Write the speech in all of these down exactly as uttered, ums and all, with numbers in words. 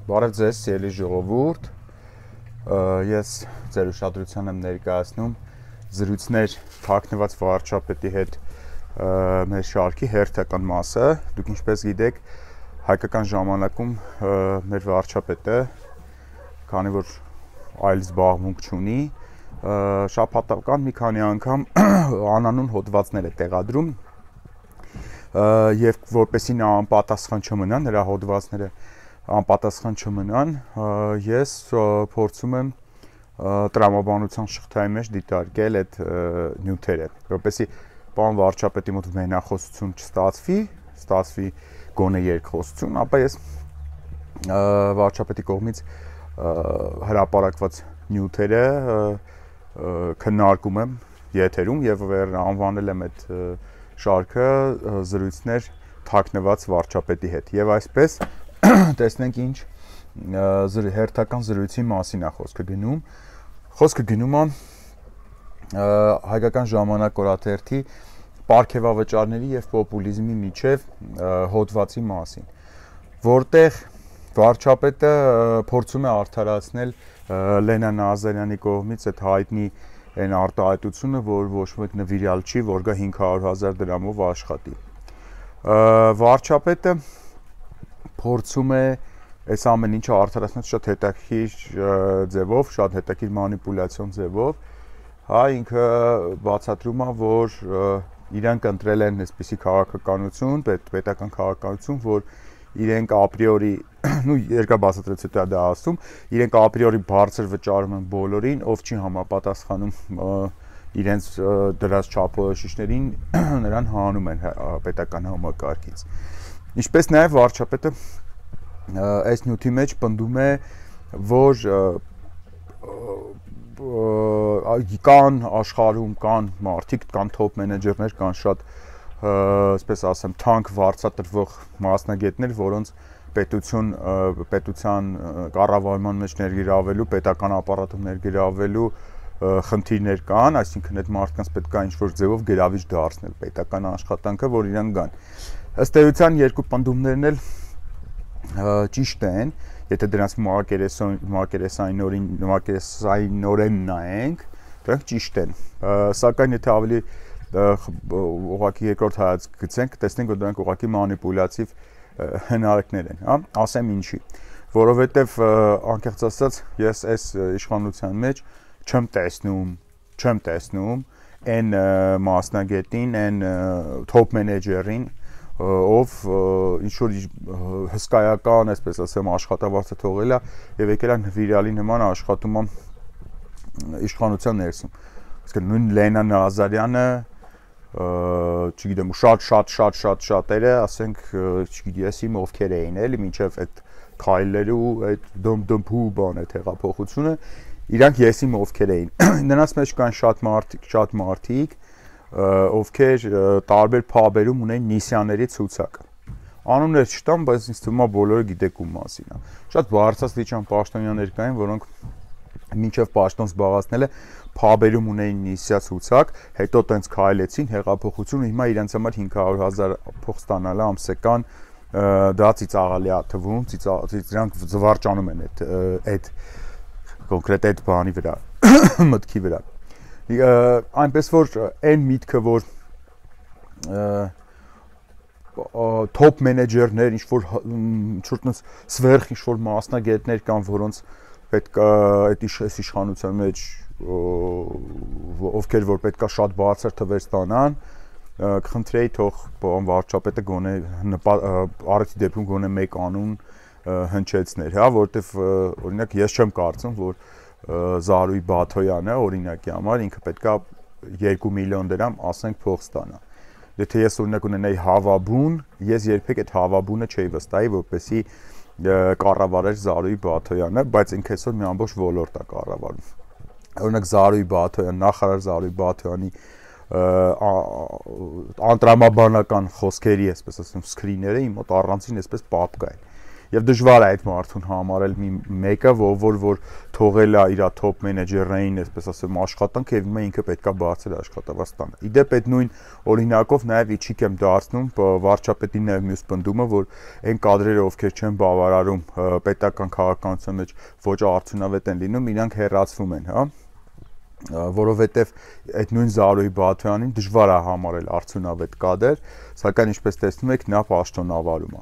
Բարև ձեզ, սիրելի ժողովուրդ, ես ձեր ուշադրության եմ ներկայացնում զրույցներ թաքնված վարչապետի հետ մեր շարքի հերթական մասը։ Դուք ինչպես գիտեք, հայկական ժամանակում մեր վարչապետը, քանի որ այլ զբաղմունք չունի, շաբաթական մի քանի անգամ անանուն հոդվածներ է տեղադրում եւ որպեսզի նա անպատասխան չմնա, նրա հոդվածները անպատասխան չմնան, ես փորձում եմ տրամաբանության շղթայի մեջ դիտարկել այդ նյութերը, որպեսզի պարոն վարչապետի մոտ մենախոսություն չստացվի, ստացվի գոնե երկխոսություն, ապա ես վարչապետի կողմից հրապարակված նյութերը քննարկում եմ եթերում եւ անվանել եմ այդ շարքը զրույցներ թաքնված վարչապետի հետ եւ այսպես տեսնենք ինչ հերթական զրույցի մասին է խոսքը գնում խոսքը գնում է հայկական ժամանակ օրաթերթի պարգևավճարների եւ պոպուլիզմի միջև հոդվածի մասին, որտեղ վարչապետը փորձում է արդարացնել Լենա Նազարյանի կողմից այդ հայտնի այն արտահայտությունը, որ ոչ մեկ նվիրյալ չի, որ գա հինգ հարյուր հազար դրամով աշխատի։ Վարչապետը փորձում է այս ամեն ինչը արդարացնել շատ հետաքրքիր ձևով, շատ հետաքրքիր մանիպուլյացիոն ձևով, հա ինքը բացատրում է, որ իրենք ընտրել են այսպիսի քաղաքականություն, պետական քաղաքականություն, որ իրենք ապրիորի, նու երկար բացատրեց հետո դա ասում, իրենք ապրիորի բարձր վճարում են բոլորին, ով չի համապատասխանում իրենց դրած չափորոշիչներին, նրան հանում են պետական համակարգից։ Ինչպես նաև վարչապետը այս նյութի մեջ պնդում է, որ կան աշխարհում կան մարդիկ, կան top մենեջերներ, կան շատ, այսպես ասեմ, թանկ վարձատրվող մասնագետներ, որոնց պետություն պետության կառավարման մեջ ներգրավելու, պետական ապարատում ներգրավելու խնդիրներ կան, այսինքն այդ մարդկանց պետք է ինչ-որ ձևով գրավիչ դարձնել պետական աշխատանքը, որ իրենք գան։ Ըստ էության երկու պնդումներն էլ ճիշտ են, եթե դրանց մակերեսայինորեն նայենք, դրանք ճիշտ են, սակայն եթե ավելի ուղղակի երկրորդ հայացք գցենք, տեսնենք, որ դրանք ուղղակի մանիպուլյատիվ հնարքներ են, հա, ասեմ ինչի, որովհետև անկեղծ ասած ես այս իշխանության մեջ չեմ տեսնում, չեմ տեսնում այն մասնագետին, այն top մենեջերին, ով ինչ-որ հսկայական, այսպես ասեմ, աշխատավարձը թողել է եւ եկել է նվիրալի նման աշխատում է իշխանության ներսում։ Իսկ նույն Լենա Նազարյանը, չգիտեմ, շատ շատ շատ շատ շատերը, ասենք, չգիտեմ, ես իմ ովքեր էին, էլի, մինչեւ այդ քայլերը ու այդ դմդմփու բան է տեղափոխությունը, իրանք ես իմ ովքեր էին։ Նրանց մեջ կան շատ մարդիկ, շատ մարդիկ, ովքեր տարբեր փաբերում ունեն նիսյաների ցուցակ։ Անուններ չտամ, բայց ինձ թվում է բոլորը գիտեք ում մասին է։ Շատ բարձրաստիճան պաշտոնյաներ կային, որոնք մինչև պաշտոն զբաղացնելը փաբերում ունեին նիսյա ցուցակ, հետո տենց քայլեցին հեղափոխություն, հիմա իրենց համար հինգ հարյուր հազար փող ստանալը ամսական դա ծիծաղալի է թվում, դրանք զվարճանում են այդ այդ կոնկրետ այդ բանի վրա, մտքի վրա։ Այնպես որ այն միտքը, որ top մենեջերներ, ինչ-որ ինչ-որ սվերխ ինչ-որ մասնագետներ կան, որոնց պետք է այդ իշխանության մեջ ովքեր որ պետք է շատ բարձր թվեր ստանան, կխնդրեի թող պարոն վարչապետը գոնե առիթի դեպքում գոնե մեկ անուն հնչեցներ, հա, որովհետև օրինակ ես չեմ կարծում, որ Զարուհի Բաթոյանը օրինակի համար ինքը պետքա երկու միլիոն դրամ ասենք փող ստանա։ Եթե ես օրինակ ունենայի հավաբուն, ես երբեք այդ հավաբունը չէի վստահի, որպեսզի կառավարեր Զարուհի Բաթոյանը, բայց ինքը այսօր մի ամբողջ ոլորտ է կառավարում։ Օրինակ Զարուհի Բաթոյան, նախարար Զարուհի Բաթոյանի անտրամաբանական խոսքերի, այսպես ասեմ, սկրիները իմ մոտ առանցին այսպես պապկա են։ եւ դժվար է այդ մարդուն համարել մի մեկը, որ որ թողել է իր top մենեջերային, այսպես ասեմ, աշխատանքը եւ հիմա ինքը պետքա բարձր աշխատավարձ տանը։ Իդեպ այդ նույն օրինակով նաեւ իջիկ եմ դարձնում վարչապետի նաեւ մյուս պնդումը, որ այն կադրերը, ովքեր չեն բավարարում պետական քաղաքականության մեջ ոչ արդյունավետ են լինում, իրանք հեռացվում են, հա, որովհետեւ այդ նույն Զարուհի Բաթյանին դժվար է համարել արդյունավետ կադր, սակայն ինչպես տեսնում եք, նա պաշտոնավարում է։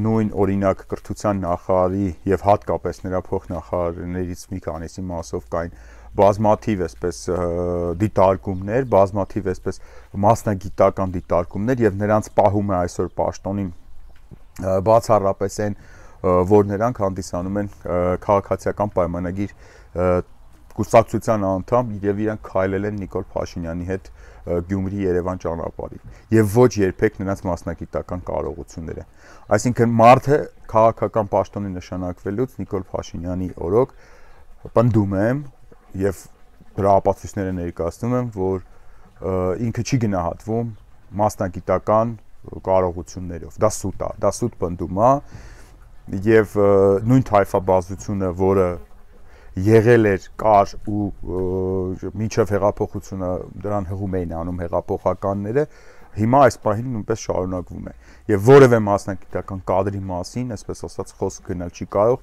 Նույն օրինակ կրթության նախարարի եւ հատկապես նրա փոխնախարարներից մի քանիսի մասով կային բազմաթիվ այսպես դիտարկումներ, բազմաթիվ այսպես մասնագիտական դիտարկումներ եւ նրանց պահում է այսօր պաշտոնին բացառապես այն, որ նրանք հանդիսանում են քաղաքացիական պայմանագիր կուսակցության անդամ եւ իրանք քայլել են Նիկոլ Փաշինյանի հետ Գյումրի-Երևան ճանապարհին եւ ոչ երբեք նրանց մասնագիտական կարողությունները։ Այսինքն մարդը քաղաքական պաշտոնի նշանակվելուց Նիկոլ Փաշինյանի օրոք պնդում եմ եւ դրա ապացույցները ներկայացնում եմ, որ ինքը չի գնահատվում մասնագիտական կարողություններով։ Դա սուտ է, դա սուտ պնդում է եւ նույն թայֆաբազությունը, որը եղել էր կար ու մինչև հեղափոխությունը դրան հղում էին անում հեղափոխականները, հիմա այս պահին նույնպես շարունակվում է եւ որևէ մասնագիտական կադրի մասին, այսպես ասած, խոսք գնալ չի կարող,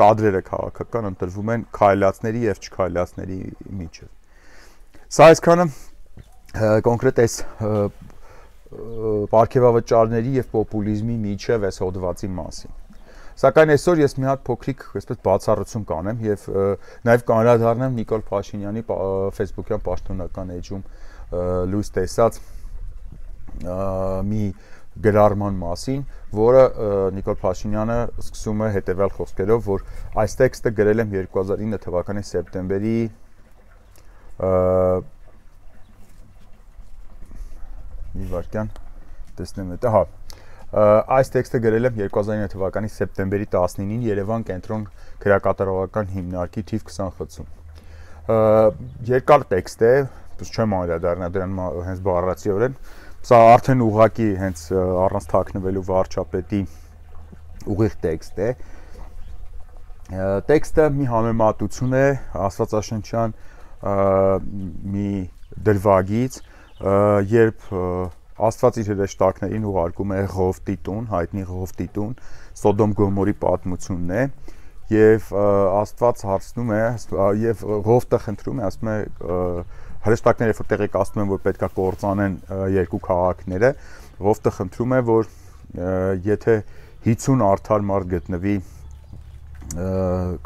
կադրերը քաղաքական ընտրվում են քայլածների եւ չքայլածների միջեւ։ Սա այսքանը կոնկրետ այս պարգևավճարների եւ պոպուլիզմի միջեւ այս հոդվածի մասին։ Սակայն այսօր ես մի հատ փոքրիկ այսպես բացառություն կանեմ եւ նաեւ կանրադառնամ Նիկոլ Փաշինյանի Facebook-յան պաշտոնական էջում լույս տեսած մի գրառման մասին, որը Նիկոլ Փաշինյանը սկսում է հետեւյալ խոսքերով, որ այս տեքստը գրել եմ երկու հազար ինը թվականի սեպտեմբերի մի վարքյան տեսնեմ դա, հա Այս տեքստը գրել եմ երկու հազար ինը թվականի սեպտեմբերի տասնինին Երևան կենտրոն քրեակատարողական հիմնարկի թիվ քսան խցում։ Երկար տեքստ է, չեմ անդրադառնա դրան հենց բառացիորեն, սա արդեն ուղղակի հենց առանց թաքնվելու վարչապետի ուղիղ տեքստ է։ Տեքստը մի համեմատություն է աստվածաշնչյան մի դրվագից, երբ Աստված իր հրեշտակներին ուղարկում է Ղովտի տուն, հայտնի Ղովտի տուն, Սոդոմ Գոմորի պատմությունն է, եւ Աստված հարցնում է, եւ Ղովտը խնդրում է, ասում է հրեշտակները որ տեղեկացնում են, որ պետքա կործանեն երկու քաղաքները, Ղովտը խնդրում է, որ եթե հիսուն արդար մարդ գտնվի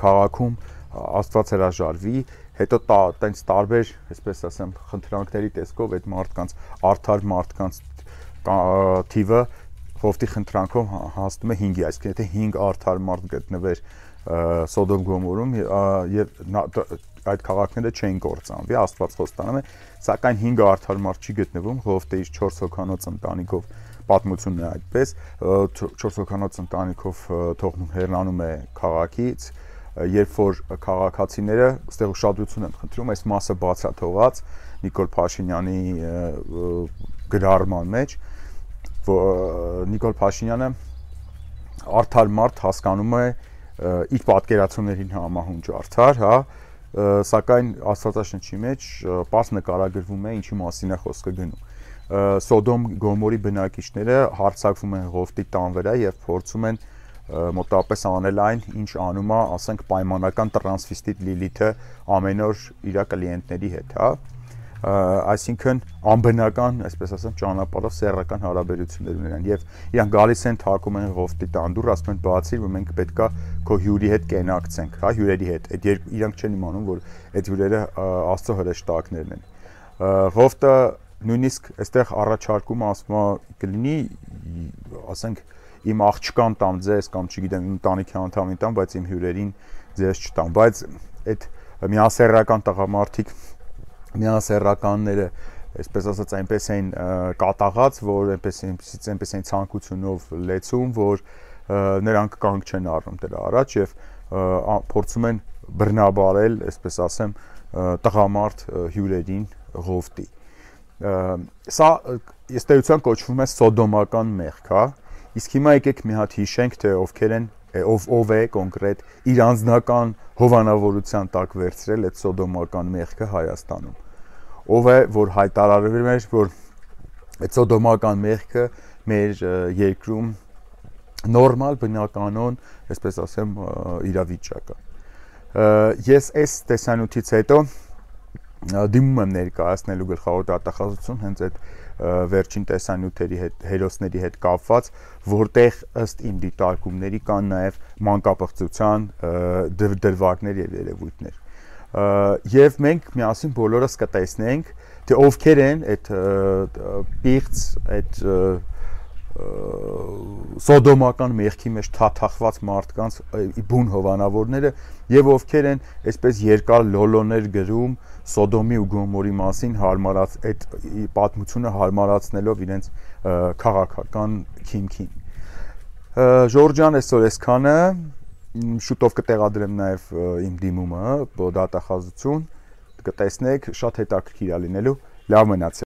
քաղաքում, Աստված հրաժարվի, հետո տենց տարբեր, այսպես ասեմ, խնդրանքների տեսքով այդ մարդկանց արդար մարդկանց թիվը Ղովտի խնդրանքով հասնում է հինգի, այսինքն եթե հինգ արդար մարդ գտնվեր Սոդոմ Գոմորում եւ այդ քաղաքները չեն կործանվի, Աստված խոստանում է, սակայն հինգ արդար մարդ չի գտնվում, Ղովտը իր չորս հոգանոց ընտանիքով պատմությունն է այդպես, չորս հոգանոց ընտանիքով թողնում հեռանում է քաղաքից, երբ որ քաղաքացիները այստեղ ուշադրություն են խնդրում, այս մասը բացաթողած Նիկոլ Փաշինյանի գրառման մեջ, Նիկոլ Փաշինյանը արդար մարդ հասկանում է իր պատկերացումներին համահունչ արդար, հա, սակայն Աստվածաշնչի մեջ պարզ նկարագրվում է ինչի մասին է խոսքը գնում։ Սոդոմ Գոմորի բնակիչները հարձակվում են Ղովտի տան վրա եւ փորձում են մոտավորապես անել այն, ինչ անում է, ասենք, պայմանական տրանսվեստիտ Լիլիթը ամեն օր իր կլիենտների հետ, հա, այսինքն անբնական, այսպես ասեմ, ճանապարհով սեռական հարաբերություններ ունեն եւ իրանք գալիս են թակում են Ղովտի տանդուր, ասում են բացի, որ մենք պետքա քո հյուրի հետ կենակցենք, հա, հյուրերի հետ, այդ իրանք չեն իմանում, որ այդ հյուրերը Աստծո հրեշտակներն են։ Ղովտը նույնիսկ այստեղ առաջարկում ասում է կլինի, ասենք, իմ աղջկան տամ ձեզ կամ չգիտեմ իմ ընտանիքի անդամին տամ, բայց իմ հյուրերին ձեզ չտամ, բայց այդ միասեռական տղամարդիկ միասեռականները, այսպես ասած, այնպես են կատաղած, որ այնպես այնպես են ցանկությունով լեցում, որ նրանք կանգ չեն առնում դրա առաջ եւ փորձում են բռնաբարել, այսպես ասեմ, տղամարդ հյուրերին Ղովտի։ Սա ըստ էության կոչվում է սոդոմական մեղք, հա, Իսկ հիմա եկեք մի հատ հիշենք, թե ովքեր են, ով ով է կոնկրետ իր անձնական հովանավորության տակ վերցրել այդ սոդոմական մեղքը Հայաստանում։ Ով է, որ հայտարարել էր, որ այդ սոդոմական մեղքը մեր երկրում նորմալ բնականon, այսպես ասեմ, իրավիճակ է։ Ես այս տեսանյութից հետո դիմում եմ ներկայացնելու գլխավոր դատախազություն հենց այդ վերջին տեսանյութերի հետ, հերոսների հետ կապված, որտեղ ըստ իմ դիտարկումների կան նաև մանկապղծության դրվագներ եւ երևույթներ։ Եվ մենք միասին բոլորս կտեսնենք, թե ովքեր են այդ պիղծ, այդ սոդոմական մեղքի մեջ թաթախված մարդկանց բուն հովանավորները եւ ովքեր են այսպես երկար լոլոներ գրում Սոդոմի ու Գոմորի մասին հարմարած այդ պատմությունը հարմարացնելով իրենց քաղաքական քիմքին։ Ժորժյան այսօր այսքանը, շուտով կտեղադրեմ նաև իմ դիմումը դատախազություն, կտեսնեք, շատ հետաքրքիր է լինելու, լավ մնացեք։